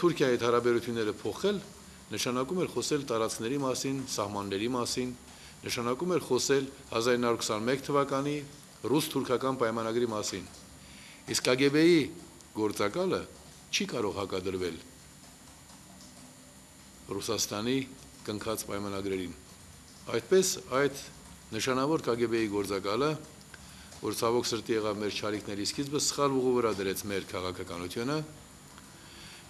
Թուրքիայի հետ հարաբերությունները փոխել, նշանակում էր խոսել տարածքների մասին, սահմանների մասին, նշանակում էր խոսել 1921 թվականի ռուս-թուրքական պայմանագրի մասին։ Իսկ KGB-ի գործակալը չի կարող հակադրվել Ռուսաստանի կնքած պայմանագրերին։ Այդպես այդ նշանավոր KGB-ի գործակալը, որ ցավոք սրտի եղավ մեր չարիքների սկիզբը, սխալ ուղու վրա դրեց մեր քաղաքականությունը,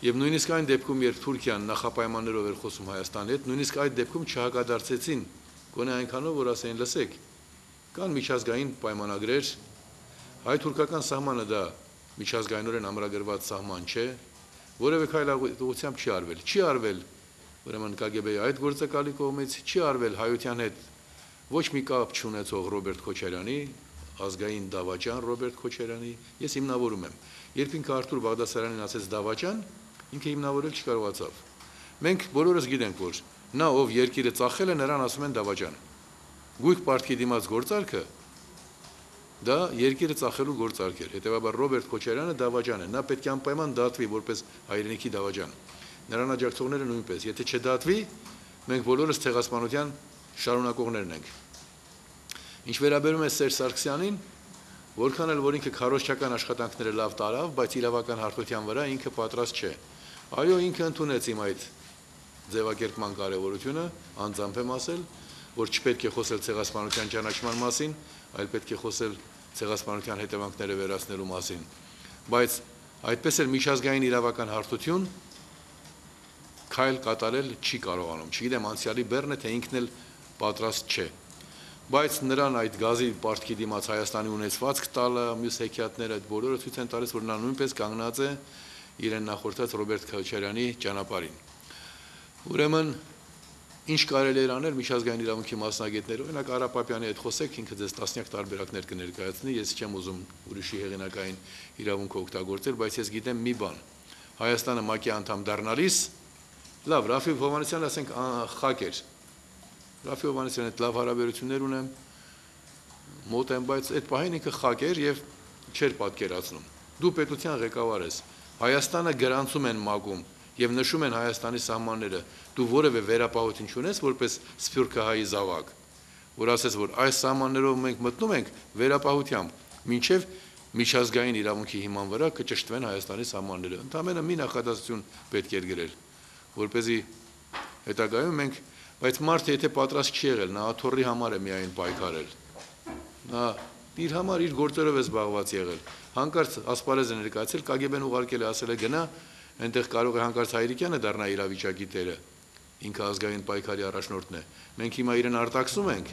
եւ նույնիսկ այն դեպքում, երբ Թուրքիան նախապայմաններով էր խոսում Հայաստանի հետ, նույնիսկ այդ դեպքում չհակադարձեցին, գոնե այնքանով, որ ասեն, լսեք, կան միջազգային պայմանագրեր, հայ-թուրքական սահմանը դա միջազգայինորեն ամրագրված սահման չէ, որևէ քայլ ուղղությամբ չի արվել, չի արվել ուրեմն KGB-ի այդ գործակալի կողմից, չի արվել հայության հետ ոչ մի կապ չունեցող Ռոբերտ Քոչարյանի, ազգային դավաճան Ռոբերտ Քոչարյանի, ես հիմնավորում եմ, երբ ինքը Արթուր Բաղդասարյանին ասեց դավաճան, ինքը հիմնավորել չկարողացավ։ Մենք բոլորս գիտենք, որ նա ով երկիրը ծախել է, նրան ասում են դավաճան։ Գույք պարտքի դիմաց գործարքը դա երկիրը ծախելու գործարք էր։ Հետևաբար Ռոբերտ Քոչարյանը դավաճան է, նա պետք է անպայման դատվի որպես հայրենիքի դավաճան։ Նրան աջակցողները նույնպես, եթե չդատվի, մենք բոլորս ցեղասպանության շարունակողներն ենք։ Ինչ վերաբերում է Սերժ Սարգսյանին, որքան էլ որ ինքը քարոզչական աշխատանքները լավ տարավ, բայց իրավական հարթության վրա ինքը պատրաստ չէ։ Այո, ինքը ընդունեց իմ այդ ձևակերպման կարևորությունը, անձամբ եմ ասել, որ չպետք է խոսել ցեղասպանության ճանաչման մասին, այլ պետք է խոսել ցեղասպանության հետևանքները վերացնելու մասին։ Բայց այդպես էլ միջազգային իրավական հարթություն քայլ կատարել չի կարողանում։ Չգիտեմ անցյալի բեռն է, թե ինքն էլ պատրաստ չէ։ Բայց նրան այդ գազի պարտքի դիմաց Հայաստանի ունեցվածք տալը, մյուս հեքիաթները այդ բոլորը ցույց են տալիս, որ նա նույնպես կանգնած է իրեն նախորդած Ռոբերտ Քոչարյանի ճանապարհին։ Ուրեմն ինչ կարելի էր անել միջազգային իրավունքի մասնագետները, օրինակ Արա Պապյանի հետ խոսեք, ինքը ձեզ տասնյակ տարբերակներ կներկայացնի, ես չեմ ուզում ուրիշի հեղինակային իրավունքը օգտագործել, բայց ես գիտեմ մի բան։ Հայաստանը ՄԱԿ-ի անդամ դառնալիս, լավ, Ռաֆիկ Հովհաննիսյանը ասենք խակ էր։ Ռաֆիկ Հովհաննիսյանի հետ լավ հարաբերություններ ունեմ, մոտ եմ, բայց այդ պահին ինքը խակ էր եւ չէր պատկերացնում։ Դու պետության ղեկավար ես, Հայաստանը գրանցում են ՄԱԿ-ում եւ նշում են Հայաստանի սահմանները, դու որևէ վերապահություն չունես որպես սփյուռքահայի զավակ, որ ասես, որ այս սահմաններով մենք մտնում ենք վերապահությամբ, մինչեւ միջազգային իրավունքի հիման վրա կճշտվեն Հայաստանի սահմանները։ Ընդամենը մի նախադասություն պետք էր գրել, որպեսզի հետագայում մենք, բայց մարդը եթե պատրաստ չի եղել, նա աթոռի համար է միայն պայքարել։ Նա իր համար իր գործերով է զբաղված եղել։ Հանկարծ ասպարեզ է ներկայացել, KGB-ն ուղարկել է, ասել է գնա, այնտեղ կարող է հանկարծ Հայրիկյանը դառնա իրավիճակի տերը, ինքը ազգային պայքարի առաջնորդն է։ Մենք հիմա իրեն արտաքսում ենք,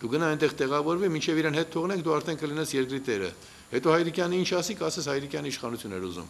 դու գնա այնտեղ տեղավորվի, մինչև իրեն հետ թողնենք, դու արդեն կլինես երկրի տերը։ Հետո Հայրիկյանը ինչ ասի, կասես Հայրիկյանը իշխանություն էր ուզում։